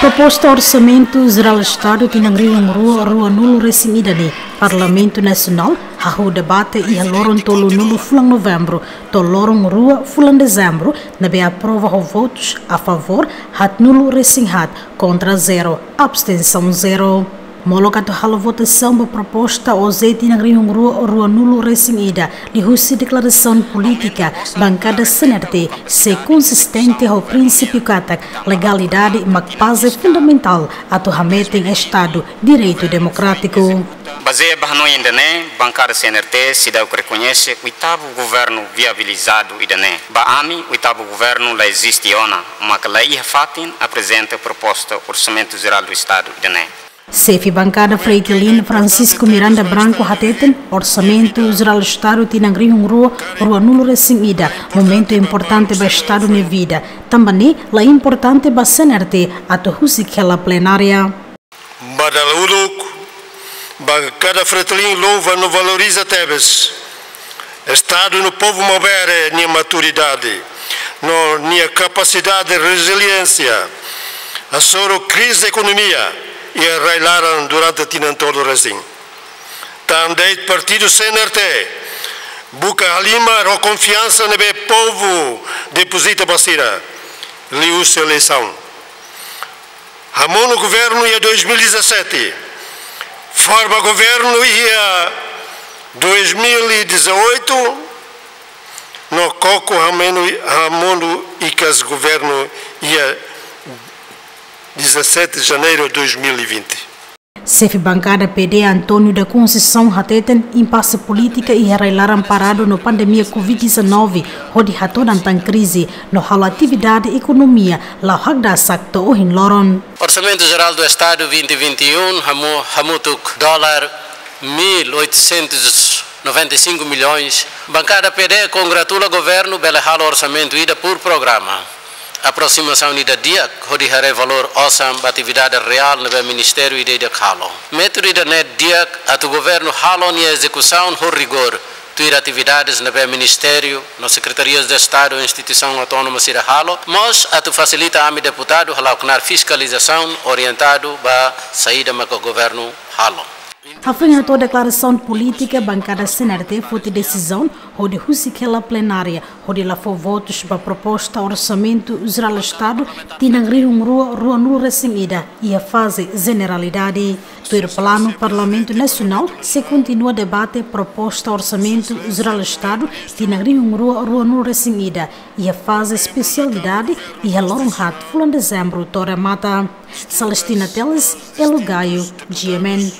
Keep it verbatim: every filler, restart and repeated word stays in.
Proposta Orsamentu Jerál Estadu tinan rihun rua ruanulu resin ida ne'e, Parlamentu Nasionál hahú debate iha loron tolunulu fulan Novembru to'o loron rua fulan Dezembru, ne'ebé aprova ho votus a favór haatnulu resin haat, kontra zero, abstensaun zero. Molok atu halo votasaun ba proposta O J tinan rihun rua ruanulu resin ida, liuhusi deklarasaun polítika, bankada C N R T sei konsistente ho prinsípiu katak legalidade mak baze fundamentál atu hametin Estadu direitu demokrátiku. Bazeia ba hanoin ida-ne'e, bankada C N R T seidauk rekoñese oitavu governu viabilizadu ida-ne'e. Ba ami, oitavu governu la eziste ona, mak la iha fatin aprezenta proposta Orsamentu Jerál do Estadu ida-ne'e. Xefe bankada Fretilin, Francisco Miranda Branco, hateten, Orsamentu Jerál Estadu tinan rihun rua ruanulu resin ida momentu importante ba Estadu nia vida. Tanba ne'e la importante ba C N R T atu husik hela plenária. Ba dala uluk, bankada Fretilin louva no valoriza tebes Estadu no povu maubere nia maturidade no nia kapasidade reziliénsia hasoru krize ekonomia iha rai-laran durante tinan tolu resin. Tan de'it partidu C N R T buka halimar ho konfiansa ne'ebé povu depozita ba sira liuhusi eleisaun. Hamonu governu iha dois mil e dezassete, forma governu iha dois mil e dezoito, no koko hamonu, hamonu ikas governu iha dezassete de janeiro de dois mil e vinte. Xefe bankada P D, António da Conceição, hateten, impase polítika iha rai-laran paradu no pandemia covid dezanove, hodi hatodan tan krize no halo atividade ekonomia la'o hakdasak to'o ohin loron. Orsamentu Jerál do Estadu vinte vinte e um, hamu-, hamutuk dólar mil oitocentos noventa e cinco milhões. Bankada P D kongratula governu bele halo orsamentu ida por programa. Aprosimasaun ida di'ak hodi haree valór osan ba atividade reál ne'ebé ministériu ida-idak halo. Métodu ida-ne'e di'ak atu governu halo nia ezekusaun ho rigór, tuir atividades ne'ebé ministériu no sekretarias de Estadu, instituisaun autónoma sira halo, mós atu fasilita ami deputadu hala'o knaar fiskalizasaun orientadu ba saida maka governu halo. Hafoin hato'o deklarasaun polítika, bankada C N R T foti desizaun hodi husik hela plenária hodi la fó votus ba proposta Orsamentu Jerál Estadu tinan rihun rua ruanulu resin ida iha faze jeneralidade. Tuir planu, Parlamentu Nasionál sei kontinua debate proposta Orsamentu Jerál Estadu tinan rihun rua ruanulu resin ida iha faze espesialidade iha loron haat fulan Dezembru to'o remata. Celestina Teles, Elo Gaio, G M N.